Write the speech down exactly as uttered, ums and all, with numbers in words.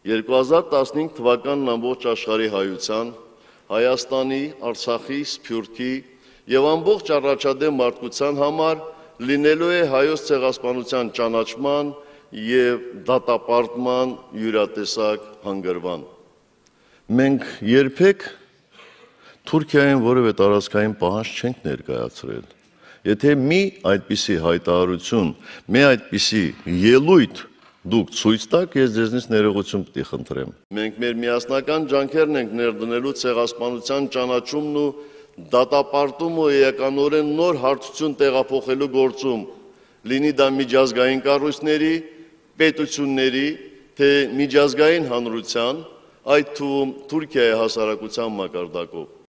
երկու հազար տասնհինգ թվականն ամբողջ աշխարհի հայության, Հայաստանի, Արցախի, Սփյուռքի եւ ամբողջ առաջադեմ մարդկության համար լինելու է հայոց ցեղասպանության ճանաչման եւ դատապարտման յուրատեսակ հանգրվան։ Մենք երբեք Թուրքիային որևէ տարածքային պահանջ չենք ներկայացրել։ Եթե մի այդպիսի հայտարարություն, մի այդպիսի ելույթ դուք ցույց տաք, ես ձեզնից ներողություն պիտի խնդրեմ։ Մենք մեր միասնական ջանքերն ենք ներդնելու ցեղասպանության ճանաչումն ու դատապարտում ու էականորեն նոր հարթություն տեղափոխելու գործում, լինի դա միջազգային կառույցների, պետությունների, թե միջազգային հանրության, այդ թվում Թուրքիայի հասարակության մակարդակով։